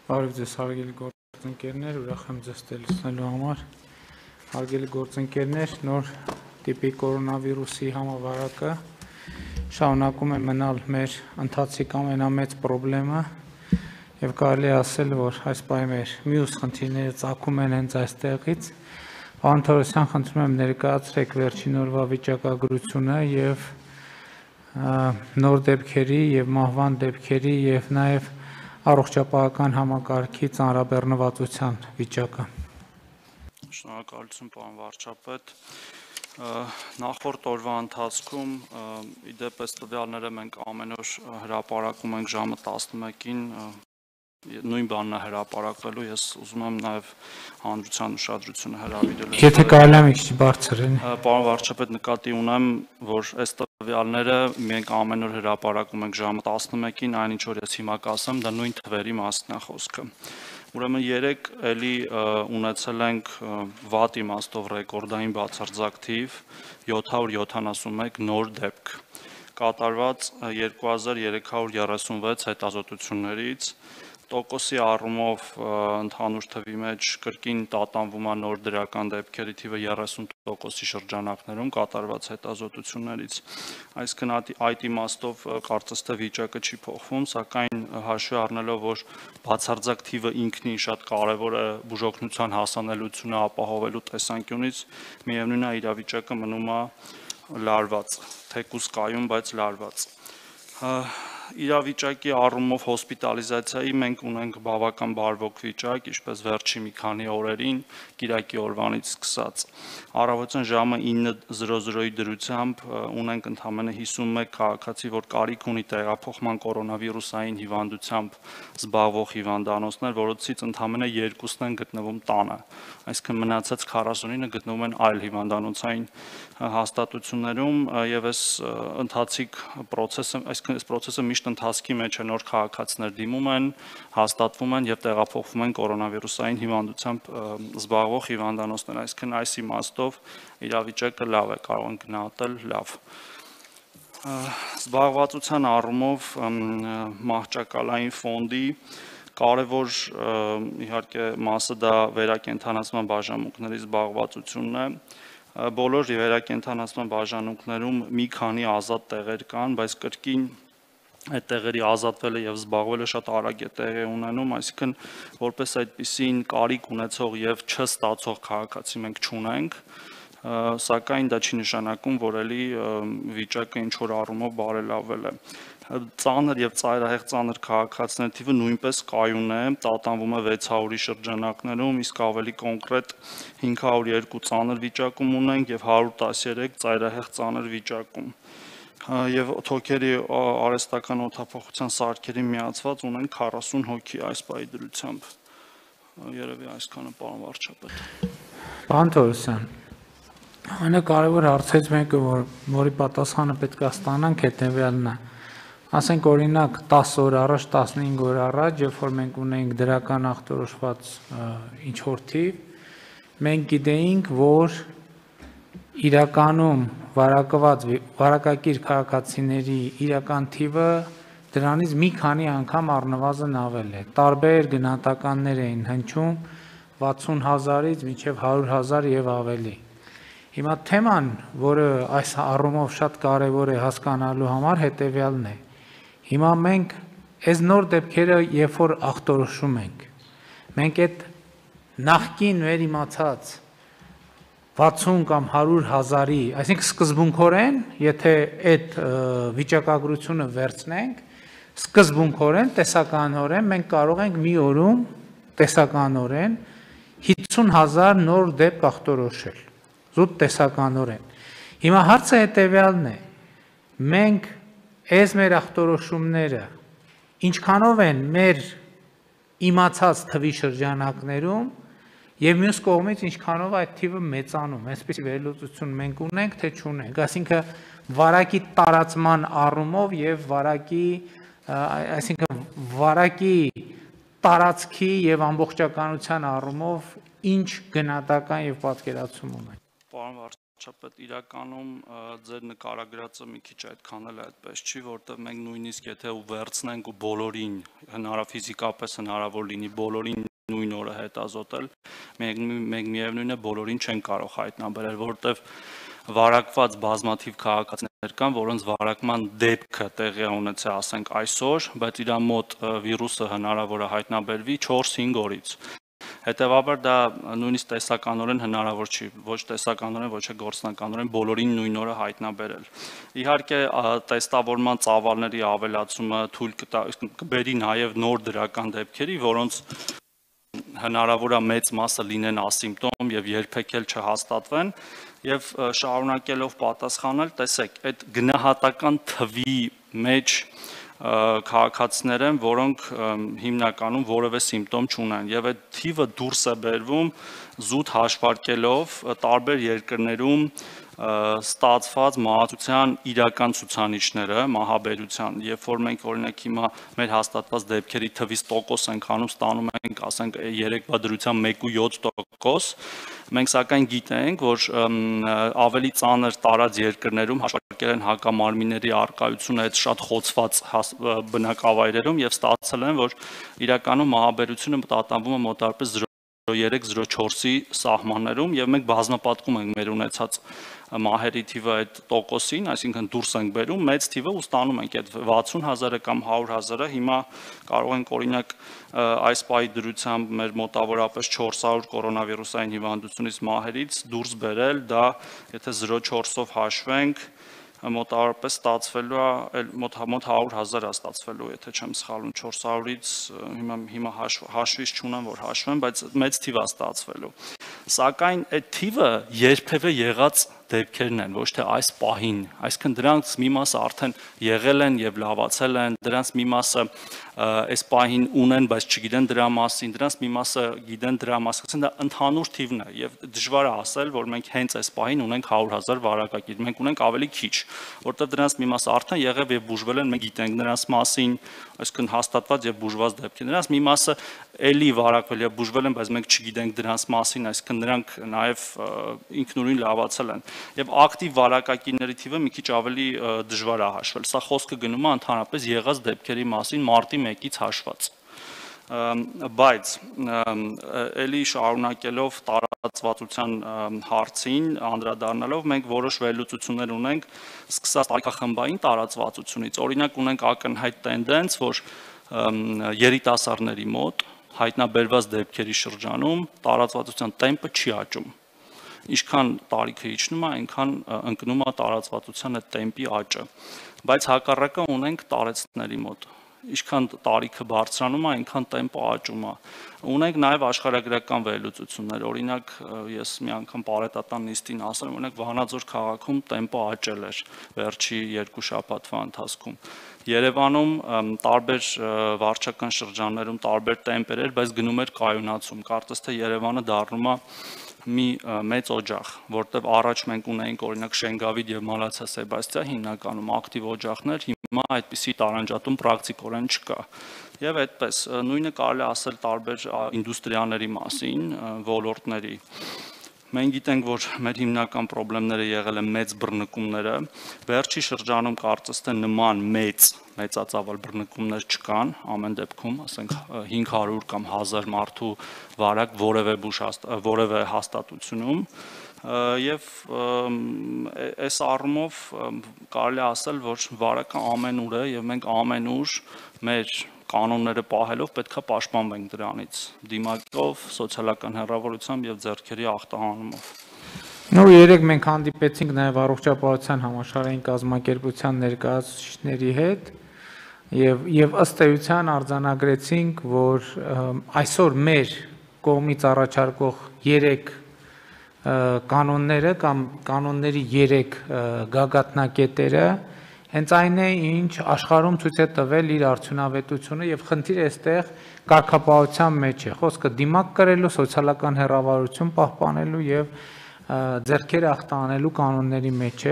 Բարև ձեզ հարգելի գործընկերներ, ուրախ եմ ձեզ լսնելու համար։ Հարգելի գործընկերներ, նոր տիպի կորոնավիրուսի համավարակը շարունակում է մնալ մեր ընթացիկ ամենամեծ խնդրեմը եւ կարելի է ասել, որ այս պահի մեր մյուս խնդիրները ծագում են հենց այստեղից։ Պարոն Թորոսյան, խնդրում եմ ներկայացրեք վերջին օրվա վիճակագրությունը եւ նոր դեպքերի եւ մահվան դեպքերի եւ նաեւ առողջապահական համակարգի ծանրաբեռնվածության վիճակը։ Շնորհակալություն, պարոն վարչապետ։ Նախորդ օրվա ընթացքում իդեպ այս տվյալները մենք ամեն օր հրապարակում ենք ժամը 11-ին, նույն բանն է հրապարակվելու, ես ուզում եմ նաև հանրության ուշադրությունը հրավիրել։ Եթե կարելի է մի քիչ բարձր են։ Պարոն վարչապետ, նկատի ունեմ, որ այս տվյալները մենք ամեն օր հրապարակում ենք ժամը 11-ին, այնինչ որ ես հիմա կասեմ, դա նույն թվերի մասն է խոսքը։ Ուրեմն երեք էլի ունեցել ենք վատ իմաստով ռեկորդային բացարձակ թիվ 771 նոր դեպք, կատարված 2336 հետազոտություններից, տոկոսի առումով ընդհանուր թվի մեջ կրկին տատանվում է նոր դրական դեպքերի թիվը 30%-ի շրջանակներում կատարված հետազոտություններից, այսինքն այդ իմաստով կարծես թե վիճակը չի փոխվում, սակայն հաշվի առնելով, որ բացարձակ թիվը ինքնին շատ կարևոր է բուժօգնության հասանելիությունը ապահովելու տեսանկյունից, միևնույն է իրավիճակը մնում է լարված, թեկուզ կայուն, բայց լարված։ Իրավիճակի առումով հոսպիտալիզացիայի մենք ունենք բավական բարվոք վիճակ, ինչպես վերջի մի քանի օրերին, կիրակի օրվանից սկսած։ Առավոտյան ժամը 9:00-ի դրությամբ ունենք ընդամենը 51 քաղաքացի, որ կարիք ունի տեղափոխման կորոնավիրուսային հիվանդությամբ զբաղվող հիվանդանոցներ, որոնցից ընդամենը 2-ն են գտնվում տանը, այսինքն մնացած 49-ը գտնվում են այլ հիվանդանոցային հաստատություններում եւ այս ընթացիկ process-ը, այսինքն այս process-ը միշտ ընթացքի մեջ է, նոր քաղաքացիներ դիմում են, հաստատվում են եւ տեղափոխվում են կորոնավիրուսային հիվանդությամբ զբաղվող հիվանդանոցներ, այսինքն այս իմաստով իրավիճակը լավ է, կարող են գնահատել լավ։ Զբաղվածության առումով մահճակալային ֆոնդի կարևոր իհարկե մասը դա վերակենդանացման բաժանմունքների զբաղվածությունն է, բոլոր վերակենդանացման բաժանմունքներում մի քանի ազատ տեղեր կան, բայց կրկին այդ տեղերի ազատվելը եւ զբաղվելը շատ արագ է տեղի ունենում, այսինքն որպես այդպիսին կարիք ունեցող եւ չստացող քաղաքացի մենք չունենք, սակայն դա չի նշանակում, որ էլի վիճակը ինչ որ առումով բարելավվել է։ Ծանր եւ ծայրահեղ ծանր քաղաքացիների թիվը նույնպես կայուն է, տատանվում է 600-ի շրջանակներում, իսկ ավելի կոնկրետ 502 ծանր վիճակում ունենք եւ 113 ծայրահեղ ծանր վիճակում։ Եվ թոքերի արհեստական օդափոխության սարքերին միացված ունենք 40 հոգի այս պահի դրությամբ։ Երևի այսքանը, պարոն վարչապետ։ Պարոն Թորոսյան, ամենակարևոր հարցից մեկը, որի պատասխանը պետք է ստանանք, հետեւյալն է։ Ասենք օրինակ 10 օր առաջ, 15 օր առաջ, երբ որ մենք ունեինք դրական ախտորոշված ինչ որ թիվ, մենք գիտեինք, որ իրականում վարակակիր քաղաքացիների իրական թիվը դրանից մի քանի անգամ առնվազն ավել է։ Տարբեր գնահատականներ էին հնչում 60,000-ից մինչև 100,000 եւ ավելի։ Հիմա թեման, որը այս առումով շատ կարևոր է հասկանալու համար, հետեւյալն է։ Հիմա մենք այս նոր դեպքերը երբ որ ախտորոշում ենք, մենք այդ նախկին մեր իմացած 60 կամ 100,000-ի, այսինքն սկզբունքորեն, եթե այդ վիճակագրությունը վերցնենք, սկզբունքորեն, տեսականորեն մենք կարող ենք մի օրում տեսականորեն 50,000 նոր դեպք ախտորոշել, զուտ տեսականորեն։ Հիմա հարցը հետեւյալն է. մենք այս մեր ախտորոշումները ինչքանով են մեր իմացած թվի շրջանակներում եւ մյուս կողմից ինչքանով այդ թիվը մեծանում, այսպես վերլուծություն մենք ունենք, թե չունենք, այսինքն վարակի տարածման առումով եւ այսինքն վարակի տարածքի եւ ամբողջականության առումով ինչ գնահատական եւ պատկերացում ունենք։ Պարոն Շապետ իրականում ձեր նկարագրածը մի քիչ այդքան էլ այդպես չի, որտեղ մենք նույնիսկ եթե ու վերցնենք ու բոլորին ֆիզիկապես հնարավոր լինի բոլորին նույն օրը հետազոտել, մենք միևնույն է բոլորին չեն կարող հայտնաբերել, որտեղ վարակված բազմաթիվ քաղաքացիներ կան, որոնց վարակման դեպքը տեղի է ունեցել, ասենք այսօր, բայց իր մոտ վիրուսը հնարավոր է հայտնաբերվի 4-5 օրից։ Հետևաբար դա նույնիսկ տեսականորեն հնարավոր չի, ոչ տեսականորեն, ոչ գործնականորեն բոլորին նույն օրը հայտնաբերել։ Իհարկե, տեստավորման ծավալների ավելացումը թույլ կբերի նաև նոր դրական դեպքերի, որոնց հնարավոր է մեծ մասը լինեն ասիմպտոմ եւ երբեք էլ չհաստատվեն եւ շարունակելով պատասխանել, տեսեք, այդ գնահատական թվի մեջ քաղաքացիներ են, որոնք հիմնականում որևէ սիմպտոմ չունեն եւ այդ թիվը դուրս է բերվում զուտ հաշվարկելով տարբեր երկրներում ստացված մահացության իրական ցուցանիշները մահաբերության, երբ որ մենք օրինակ հիմա մեր հաստատված դեպքերի թվից տոկոս ենք անում, ստանում ենք, ասենք 3-վա դրությամբ 1.7%, մենք սակայն գիտենք, որ ավելի ծանր տարած երկրներում հաշվարկել են հակամարմինների առկայությունը այդ շատ խոցված բնակավայրերում եւ ստացել են, որ իրականում մահաբերությունը տատանվում է մոտավորապես 0.3-0.4-ի սահմաններում եւ մենք բազմապատկում ենք մեր ունեցած մահերի թիվը այդ տոկոսին, այսինքն դուրս ենք բերում մեծ թիվը ու ստանում ենք այդ 60,000-ը կամ 100,000-ը, հիմա կարող ենք օրինակ այս պահի դրությամբ մեր մոտավորապես 400 կորոնավիրուսային հիվանդությունից մահերից դուրս բերել, դա եթե 0.4-ով հաշվենք, մոտավորապես ստացվելու է մոտ 100,000 է ստացվելու, եթե չեմ սխալվում, 400-ից հիմա հաշվից չունեմ, որ հաշվեմ, բայց մեծ թիվ է ստացվելու։ Սակայն այդ թիվը երբևէ եղած դեպքերն են, ոչ թե այս պահին, այսինքն դրանց մի մասը արդեն եղել են եւ լավացել են, դրանց մի մասը այս պահին ունեն, բայց չգիտեն դրա մասին, դրանց մի մասը գիտեն դրա մասին, դա ընդհանուր թիվն է եւ դժվար է ասել, որ մենք հենց այս պահին ունենք 100,000 վարակագիր, մենք ունենք ավելի քիչ, որտեղ դրանց մի մասը արդեն եղավ եւ բուժվել են, մենք գիտենք նրանց մասին, այսինքն հաստատված եւ բուժված դեպքեր, նրանց մի մասը էլի վարակվել եւ բուժվել են, բայց մենք չգիտենք դրանց մասին, այսինքն նրանք նաեւ ինքնուրույն լավացել են եւ ակտիվ վարակագիրների թիվը մի քիչ ավելի դժվար է հաշվել։ Սա խոսքը գնում է ընդհանրապես եղած դեպքերի մասին մարտի 1-ից հաշված։ Բայց էլի շարունակելով տարածվածության հարցին անդրադառնալով մենք որոշ վերլուծություններ ունենք սկսած տարիքախմբային տարածվածությունից։ Օրինակ ունենք ակնհայտ տենդենց, որ երիտասարդների մոտ հայտնաբերված դեպքերի շրջանում տարածվածության տեմպը չի աճում։ Ինչքան տարիքը իջնում է, այնքան ընկնում է տարածվածության այդ տեմպի աճը։ Բայց հակառակը ունենք տարեցների մոտ։ Ինչքան տարիքը բարձրանում է, այնքան տեմպը աճում է։ Ունենք նաև աշխարհագրական վերլուծություններ։ Օրինակ, ես մի անգամ պարետատան նիստին ասել եմ, օրինակ Վանաձոր քաղաքում տեմպը աճել էր վերջի 2 շաբաթվա ընթացքում։ Երևանում տարբեր վարչական շրջաններում տարբեր տեմպեր էր, բայց գնում էր կայունացում։ Կարծես թե Երևանը դառնում է մի մեծ օջախ, որտեղ առաջ մենք ունեինք օրինակ Շենգավիթ եւ Մալացիա Սեբաստիա հիմնականում ակտիվ օջախներ, հիմա այդպիսի տարանջատում պրակտիկորեն չկա։ Եվ այդպես նույնը կարելի է ասել տարբեր ինդուստրիաների մասին, ոլորտների։ Մենք գիտենք, որ մեր հիմնական խնդիրները եղել են մեծ բռնկումները, վերջի շրջանում կարծես թե նման մեծածավալ բռնկումներ չկան, ամեն դեպքում, ասենք 500 կամ 1000 մարդու վարակ որևէ հաստատությունում, եւ այս առումով կարելի է ասել, որ վարակը ամենուր է եւ մենք ամենուր մեր կանոնները պահելով պետքա պաշտպանվենք դրանից, դիմակով, սոցիալական հեռավորությամբ եւ ձեռքերի ախտահանումով։ Նոր երեք մենք հանդիպեցինք նաեւ առողջապահության համաշխարհային կազմակերպության ներկայացուցիչների հետ եւ ըստ էության արձանագրեցինք, որ այսօր մեր կողմից առաջարկող 3 կանոնները կամ կանոնների 3 գագաթնակետերը հենց այն է, ինչ աշխարհում ցույց է տվել իր արդյունավետությունը եւ խնդիրը այստեղ կարգապահության մեջ է։ Խոսքը դիմակ կրելու, սոցիալական հեռավարություն պահպանելու եւ ձեռքերը ախտանելու կանոնների մեջ է։